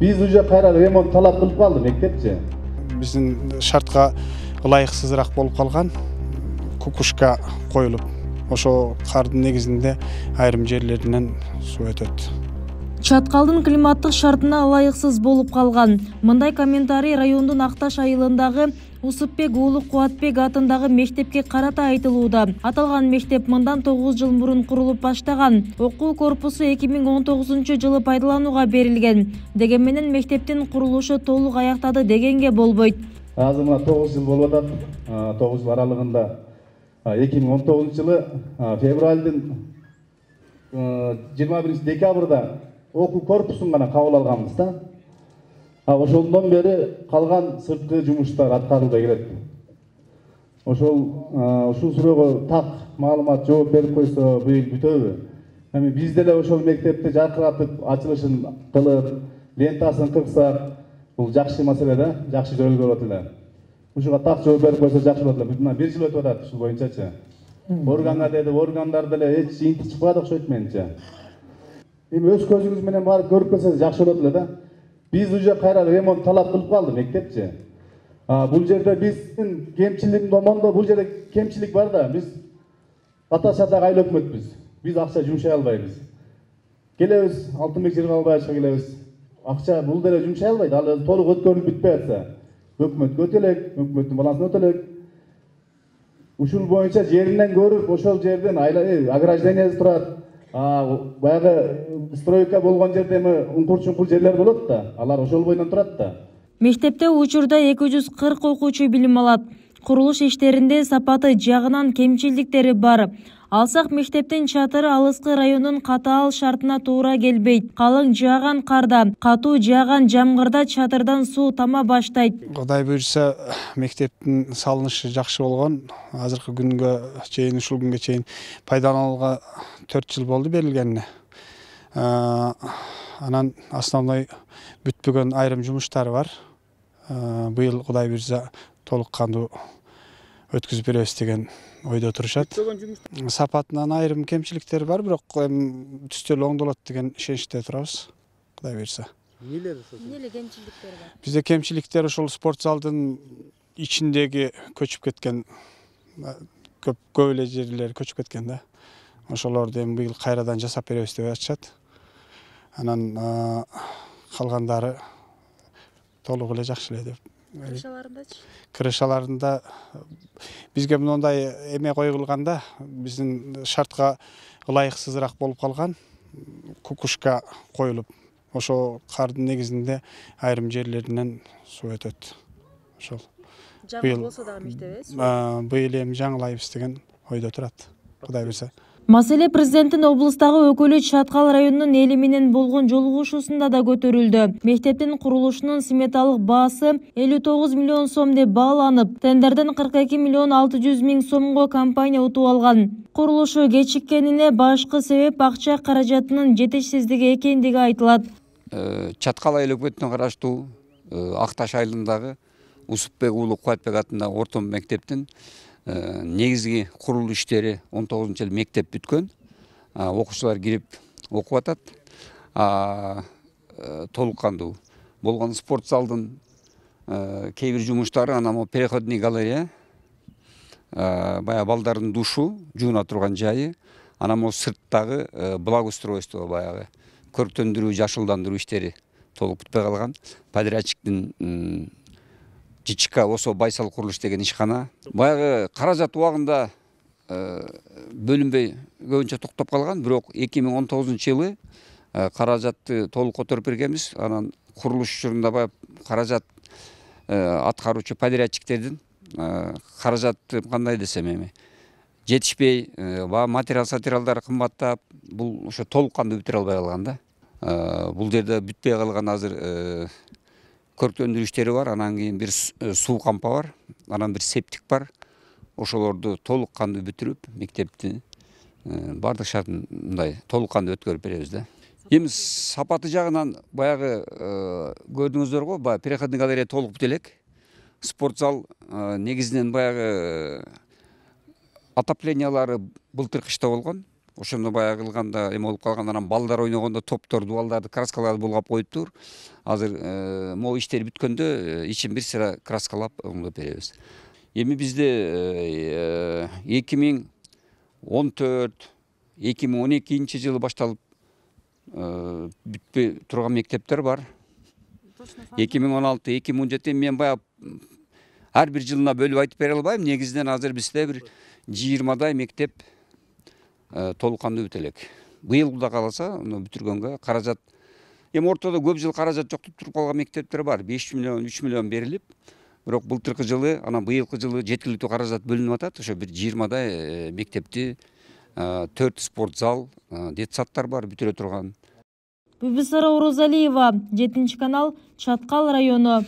Биз уже кайра ремонт талап кылып калды мектепчи. Биздин шартка ылайыксызыраак болуп калган кукушка коюлуп, ошо кардын негизинде айрым жерлеринен суу өтөт. Чаткалдын климаттык шартына ылайыксыз болуп калган. Мындай комментарий райондун Акташ айылындагы Усупбек уулу Кубатбек атындагы мектепке карата айтылууда. Аталган мектеп мындан 9 жыл мурун курулуп баштаган. Окуу корпусу 2019-жылы пайдаланууга берилген. Дегенменен мектептин курулушу толук аяктады дегенге болбойт. Азыр мына 9 жыл болуп атат. 9 жыл аралыгында 2019-жылы февралдын 21 декабрда окуу корпусун гана кабыл алганбыз да. Ошондон бери калган сырткы жумуштар аткарылбай келет. Ушул суроого так маалымат жооп берип койсо быйыл бүтөбү? Эми биз деле ошол мектепти жаркыратып, ачылышын кылып, лентасын кырсак, бул жакшы маселе да, жакшы жолго болот эле. Ушуга так жооп берип койсо жакшы болот эле. Мына 1 жыл өтүп атат ушул боюнчачы. Органга деди, органдар деле эч инти чыкпады окшойт менимче. Эми өз көзүңүз менен барып көрүп келсеңиз жакшы болот эле да. Биз уже кайра ремонт талап кылып калды мектепчи. Бул жерде биздин кемчиликтин томонунда бул жерде кемчилик бар да. Биз ата-шатак айыл өкмөтпүз. Биз акча жумшай албайбыз. Келебиз, алтын жерге албай ачка келебиз. Акча бул деле жумшай албайт. Ал толук өткөрүлүп бүтпөй атса, өкмөткө өтөлөк, өкмөттүн балансына өтөлөк. Ушул боюнча жеринен көрүп, ошол жерден ограждениясы турат. Баягы стройка болгон жерде уңкур-чуңкур жерлер болот да, алар ошол бойдон турат да. Мектепте учурда 240 окуучу билим алат. Курулуш иштеринде сапаты жагынан кемчиликтери бар. Алсак мектептин чатыры алыскы райондун катаал шартына туура келбейт. Калың жааган карда, катуу жааган жамгырда чатырдан суу тама баштайт. Кудай буйрса, мектептин салынышы жакшы болгон. Азыркы күнгө чейин, ушул күнгө чейин пайдаланууга 4 жыл болду берилгенине. Анан основной бүтпөгөн айрым жумуштары бар. Быйыл Кудай буйрса толук кандуу өткүзүп беребиз деген ойдо турушат. Сапатынан айрым кемчиликтер бар, бирок түстөр оңдолот деген ишеничте турабыз. Кудай буйрса. Эмне кемчиликтер бар? Бизде кемчиликтер ошол спорт залдын ичиндеги көчүп кеткен, көп эле жерлер көчүп кеткен да. Ошолорду эми быйыл кайрадан жасап беребиз деп айтышат. Анан калгандары толук эле жакшы эле деп. Крышаларындачы? Крышаларында бизге мындай эме коюлганда, биздин шартка ылайыксызыраак болуп калган кукушка коюлуп, ошо кардын негизинде айрым жерлеринен суу өтөт. Ошол. Жаңы болсо дагы мектеп быйыл эми жаңылайбыз деген ойдо турат. Кудай буйрса. Маселе президенттин облустагы өкүлү Чаткал районунун эли менен болгон жолугушуусунда да көтөрүлдү. Мектептин курулушунун сметалык баасы 59 миллион сом деп бааланып, тендерден 42 миллион 600 миң сомго компания утуп алган. Курулушу кечиккенине башкы себеп акча каражатынын жетишсиздиги экендиги айтылат. Чаткал айыл өкмөтүнө караштуу Акташ айылындагы Усупбек уулу Кубатбек атындагы орто мектептин негизги курулуу иштери 19-жылы мектеп бүткөн. Окуучулар кирип окуп атат. Толук кандуу болгон спорт залдын кээ бир жумуштары, анан переходный галерея, баягы балдардын душу, жууна турган жайы, анан сырттагы благоустройство, баягы көрктөндүрүү, жашылдандыруу иштери толук бүтпөй калган. Подрядчиктин ЖЧК ОСО Байсал курулуш деген ишкана. Баягы каражат убагында бөлүнбөй көбүнчө токтоп калган, бирок 2019-жылы каражатты толук которуп бергенбиз. Анан курулуш учурунда баягы каражат аткаруучу подрядчиктердин каражатты кандай десем эми жетишпей, материалдар кымбаттап, бул ошо толук кандуу бүтүрө албай калган да. Бул жерде бүтпөй калган азыр көрктөндүрүү иштери бар, анан кийин бир суу кампа бар, анан бир септик бар. Ошолорду толук кандуу бүтүрүп, мектепти бардык шартын мындай толук кандуу өткөрүп беребиз да. Эми сапаты жагынан баягы көрдүңүздөр го, баягы переходный галерея толук бүтө элек. Спорт зал негизинен баягы отоплениялары былтыр кышта болгон. ошондо баягы кылганда эме болуп калган, анан балдар ойногондо топторду, балдарды краскаларды булгап коюптур. Азыр могу иштер бүткөндө ичин бир сыра краскалап оңдоп беребиз. Эми бизде 2014-2012 жылы башталып бүтпөй турган мектептер бар. 2016-2017 мен баягы ар бир жылына бөлүп айтып бере албайм. Негизинен азыр бизде бир 20дай мектеп толук кандуу бүтө элек. Быйыл да каласа, бүтүргөнгө каражат. Эми ортодо көп жыл каражат жоктуп туруп калган мектептер бар. 5 миллион, 3 миллион берилип, бирок былтыркы жылы, анан быйылкы жылы жеткиликтүү каражат бөлүнүп атат. Ошо бир 20дай мектепти, 4 спорт зал, детсадтар бар бүтүрө турган. Бибисара Орозалиева, 7 канал, Чаткал району.